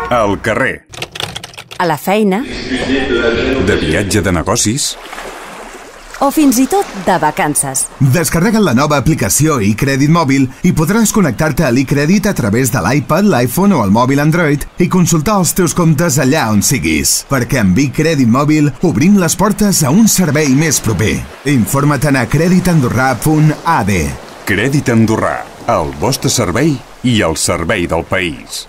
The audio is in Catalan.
Al carrer. A la feina. De viatge de negocis. O fins i tot de vacances. Descarrega't la nova aplicació iCrèdit Mòbil i podràs connectar-te a l'iCrèdit a través de l'iPad, l'iPhone o el mòbil Android i consultar els teus comptes allà on siguis. Perquè amb iCrèdit Mòbil obrim les portes a un servei més proper. Informa't a creditandorra.ad. Crèdit Andorrà, el vostre servei i el servei del país.